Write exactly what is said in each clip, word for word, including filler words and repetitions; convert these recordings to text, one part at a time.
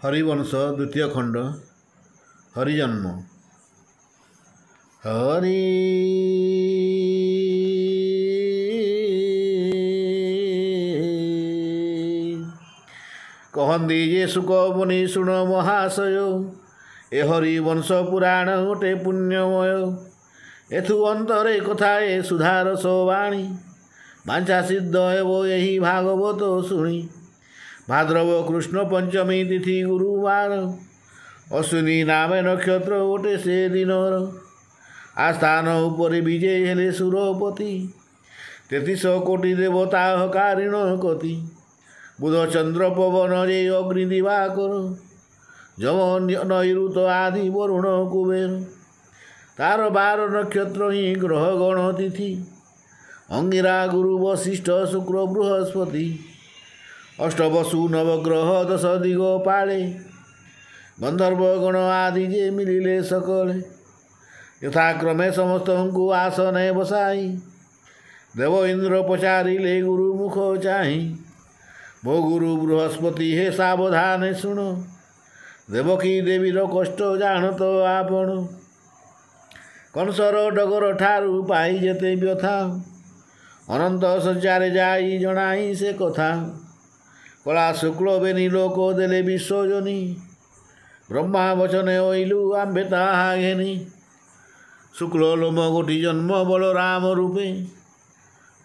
ହରିବଂଶ ଦ୍ୱିତୀୟ ଖଣ୍ଡ ହରିଜନ୍ମ। ହରି କହନ୍ତି ଯେ ଶୁକ ମୁନି ଶୁଣ ମହାଶୟ, ଏ ହରିବଂଶ ପୁରାଣ ଗୋଟେ ପୁଣ୍ୟମୟ। ଏଥୁ ଅନ୍ତରେ କଥା ଏ ସୁଧାରସ ବାଣୀ, ବାଞ୍ଛା ସିଦ୍ଧ ହେବ ଏହି ଭାଗବତ ଶୁଣି। ଭାଦ୍ରବ କୃଷ୍ଣ ପଞ୍ଚମୀ ତିଥି ଗୁରୁବାର, ଅଶ୍ୱିନୀ ନାମେ ନକ୍ଷତ୍ର ଗୋଟେ ସେ ଦିନର। ଆସ୍ଥାନ ଉପରେ ବିଜେ ହେଲେ ସୁରପତି, ତେତିଶ କୋଟି ଦେବତା ହକାରିଣ କତି। ବୁଧ ଚନ୍ଦ୍ର ପବନ ଯେ ଅଗ୍ନି ଦିବାକର, ଯମ ନୈଋତ ଆଦି ବରୁଣ କୁବେର। ତାର ବାର ନକ୍ଷତ୍ର ହିଁ ଗ୍ରହ ଗଣ ତିଥି, ଅଙ୍ଗିରା ଗୁରୁ ବଶିଷ୍ଠ ଶୁକ୍ର ବୃହସ୍ପତି। ଅଷ୍ଟବସୁ ନବଗ୍ରହ ଦଶ ଦିଗ ପାଳେ, ଗନ୍ଧର୍ବ ଗଣ ଆଦି ଯେ ମିଳିଲେ ସକଳେ। ଯଥାକ୍ରମେ ସମସ୍ତଙ୍କୁ ଆସନେ ବସାଇ, ଦେବ ଇନ୍ଦ୍ର ପଚାରିଲେ ଗୁରୁ ମୁଖ ଚାହିଁ। ମୋ ଗୁରୁ ବୃହସ୍ପତି ହେ ସାବଧାନେ ଶୁଣ, ଦେବକୀ ଦେବୀର କଷ୍ଟ ଜାଣତ ଆପଣ। କଂସର ଡଗର ଠାରୁ ପାଇ ଯେତେ ବ୍ୟଥା, ଅନନ୍ତ ଶଯ୍ୟାରେ ଯାଇ ଜଣାଇ ସେ କଥା। କଳା ଶୁକ୍ଳ ବେନି ଲୋକ ଦେଲେ ବିଶ୍ୱଜନୀ, ବ୍ରହ୍ମା ବଚନେ ଅଇଲୁ ଆମ୍ଭେ ତାହା ଘେନି। ଶୁକ୍ଳ ଲୋମ ଗୋଟି ଜନ୍ମ ବଳରାମ ରୂପେ,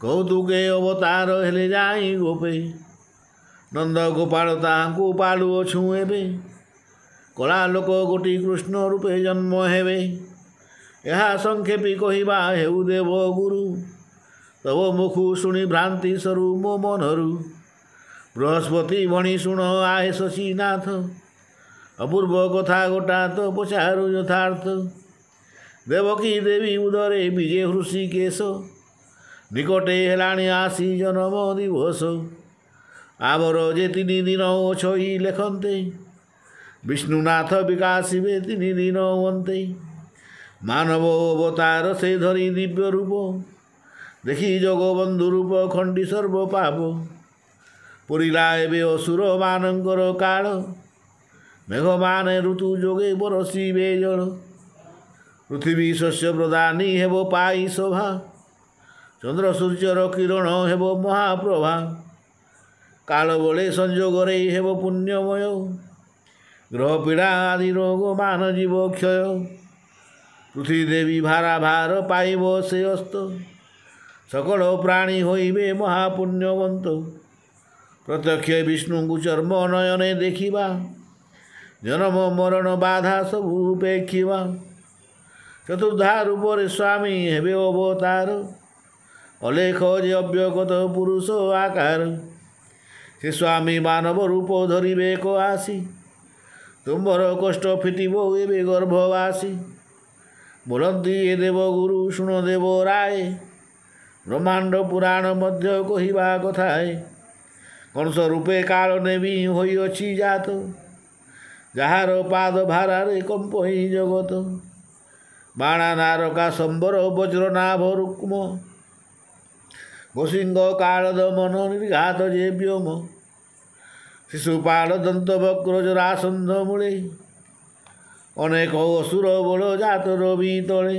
କୌତୁକେ ଅବତାର ହେଲେ ଯାଇ ଗୋପେ। ନନ୍ଦ ଗୋପାଳ ତାହାଙ୍କୁ ପାଳୁଅଛୁଁ ଏବେ, କଳା ଲୋକ ଗୋଟି କୃଷ୍ଣ ରୂପେ ଜନ୍ମ ହେବେ। ଏହା ସଂକ୍ଷେପି କହିବା ହେଉ ଦେବ ଗୁରୁ, ତବ ମୁଖୁ ଶୁଣି ଭ୍ରାନ୍ତି ସରୁ ମୋ ମନରୁ। ବୃହସ୍ପତି ଭଣି ଶୁଣ ଆହେ ଶଶୀନାଥ, ଅପୂର୍ବ କଥା ଗୋଟା ତ ପଚାରୁ ଯଥାର୍ଥ। ଦେବକୀ ଦେବୀ ଉଦରେ ବିଜେ ହୃଷିକେଶ, ନିକଟେ ହେଲାଣି ଆସି ଜନମ ଦିବସ। ଆମର ଯେ ତିନି ଦିନ ଅଛଇ ଲେଖନ୍ତେ, ବିଷ୍ଣୁନାଥ ବିକାଶିବେ ତିନି ଦିନ ଅନ୍ତେ। ମାନବ ଅବତାର ସେ ଧରି ଦିବ୍ୟ ରୂପ, ଦେଖି ଜଗବନ୍ଧୁ ରୂପ ଖଣ୍ଡି ସର୍ବ ପାପ। ପୁରିଲା ଏବେ ଅସୁରମାନଙ୍କର କାଳ, ମେଘମାନେ ଋତୁ ଯୋଗେ ବରଷିବେ ଜଳ। ପୃଥିବୀ ଶସ୍ୟ ପ୍ରଦାନୀ ହେବ ପାଇ ଶୋଭା, ଚନ୍ଦ୍ର ସୂର୍ଯ୍ୟର କିରଣ ହେବ ମହାପ୍ରଭା। କାଳ ବଳେ ସଂଯୋଗରେ ହେବ ପୁଣ୍ୟମୟ, ଗ୍ରହ ପୀଡ଼ା ଆଦି ରୋଗ ମାନ ଯିବ କ୍ଷୟ। ପୃଥିବୀ ଦେବୀ ଭାରା ଭାର ପାଇବ ସେ ଅସ୍ତ, ସକଳ ପ୍ରାଣୀ ହୋଇବେ ମହାପୁଣ୍ୟବନ୍ତ। ପ୍ରତ୍ୟକ୍ଷ ବିଷ୍ଣୁଙ୍କୁ ଚର୍ମ ନୟନେ ଦେଖିବା, ଜନମ ମରଣ ବାଧା ସବୁ ଉପେକ୍ଷିବା। ଚତୁର୍ଦ୍ଧା ରୂପରେ ସ୍ୱାମୀ ହେବେ ଅବତାର, ଅଲେଖ ଯେ ଅବ୍ୟଗତ ପୁରୁଷ ଆକାର। ସେ ସ୍ୱାମୀ ମାନବ ରୂପ ଧରିବେ ଏକ ଆସି, ତୁମ୍ଭର କଷ୍ଟ ଫିଟିବ ଏବେ ଗର୍ଭବାସୀ। ବୋଲନ୍ତି ଏ ଦେବ ଗୁରୁ ଶୁଣ ଦେବ ରାୟ, ବ୍ରହ୍ମାଣ୍ଡ ପୁରାଣ ମଧ୍ୟ କହିବା କଥାଏ। କଂସ ରୂପେ କାଳ ନେବି ହୋଇଅଛି ଜାତ, ଯାହାର ପାଦ ଭାରାରେ କମ୍ପଇ ଜଗତ। ବାଣା ନାରକା ସମ୍ବର ବଜ୍ରନାଭ ରୁକ୍ମ, ଗୋସିଂହ କାଳ ଦମନ ନିର୍ଘାତ ଯେ ବ୍ୟୋମ। ଶିଶୁପାଳ ଦନ୍ତ ବକ୍ର ଜରାସନ୍ଧ ମୂଳେ, ଅନେକ ଅସୁର ବଳ ଜାତ ରବି ତଳେ।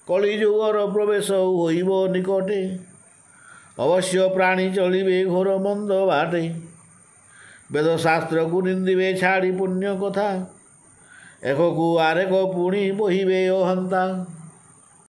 କଳିଯୁଗର ପ୍ରବେଶ ହୋଇବ ନିକଟେ, ଅବଶ୍ୟ ପ୍ରାଣୀ ଚଳିବେ ଘୋର ମନ୍ଦ ବାଟେ। ବେଦଶାସ୍ତ୍ରକୁ ନିନ୍ଦିବେ ଛାଡ଼ି ପୁଣ୍ୟ କଥା, ଏକକୁ ଆରେକ ପୁଣି ବହିବେ ଅହନ୍ତା।